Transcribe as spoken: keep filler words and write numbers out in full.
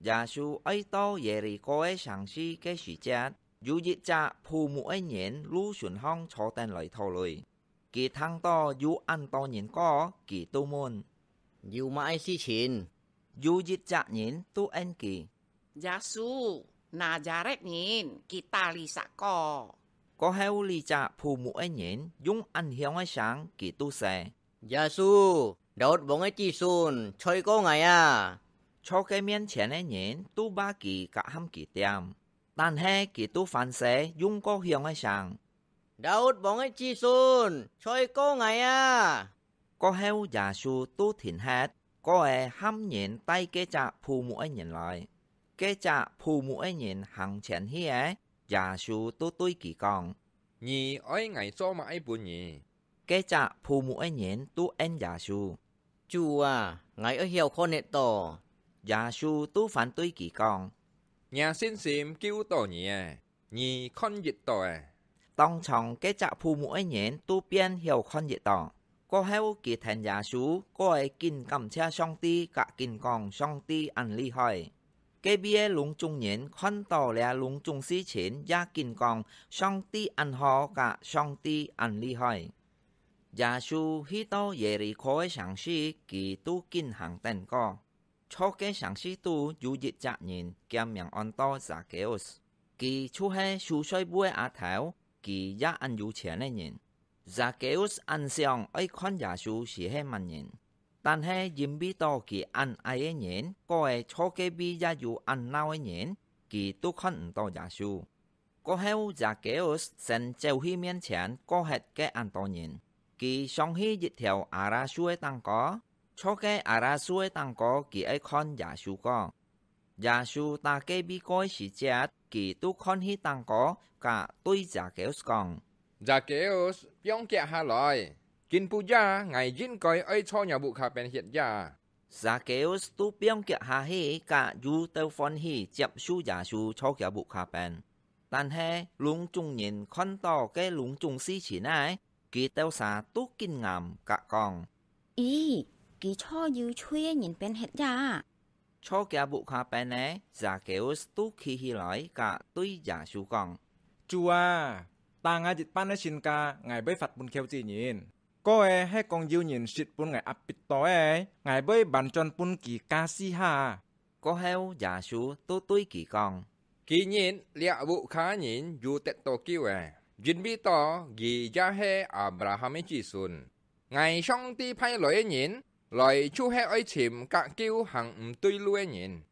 Yâ-sû oi to Yê-li-kô-ke sàng-si ke時節，有一隻捕牧个人路脣項坐等來討鐳。佢聽到有恁多人過，佢就問：「有麼个事情？」有一隻人就應佢：「耶穌，拿撒勒人，佢搭裡sakko。」過後，這隻捕牧个人用恁響个聲，佢就說：「耶穌，Daud王个子孫，在過𠊎啊！」坐該面前个人就罵佢，甲喊佢恬，但係佢就還係用過響个聲：「Daud王个子孫，在過𠊎啊！」過後，耶穌就停歇，過仔喊人帶該隻捕牧个人來。該隻捕牧个人行前去仔，耶穌就對佢講：「你愛𠊎做麼个分你？」該隻捕牧个人就應耶穌：「主啊，𠊎愛曉看得到。」耶穌就還對佢講：「若信心救到你仔，你看得到仔。」當場該隻捕牧个人就變曉看得到。過後，佢跈耶穌過仔緊感謝上帝，甲緊講：「上帝恁厲害！」隔壁个攏總人看到這攏總事情，也緊講：「上帝恁好，甲上帝恁厲害！」耶穌去到Yê-li-kô个城市，佢就緊行等過。坐該城市肚有一隻人，厥名安到Zâ-kêus，佢就係收稅務个阿頭，佢也恁有錢个人。Zâ-kêus恁想愛看耶穌係係麼人，但係因為到佢恁矮个人，過仔坐隔壁也有恁鬧个人，佢就看毋到耶穌。過後，Zâ-kêus先走去面前，過歇該恁多人。佢上去一條阿拉樹个頂高，坐該阿拉樹个頂高，佢愛看耶穌講。耶穌打隔壁過个時節，佢就看去頂高，甲對Zâ-kêus講：「Zâ-kêus，放腳下來！今晡夜𠊎應該愛坐若屋下邊歇夜。」Zâ-kêus就放腳下去，甲又兜歡喜接受耶穌坐厥屋下邊。但係，攏總人看到該攏總事情仔，佢兜儕都緊頷甲講：「咦，佢坐有罪个人邊歇夜啊！」坐厥屋下邊个Zâ-kêus就企起來，甲對耶穌講：「主啊，打𠊎一半个身價，𠊎會發分虯子人。過仔係講有人食分𠊎壓迫到个，𠊎會還轉分佢加四下。」過後，耶穌就對佢講：「今日這屋下人有得到救仔，因為到佢也係Abraham个子孫。𠊎上帝派來个人，來就係愛尋甲救行毋對路个人。」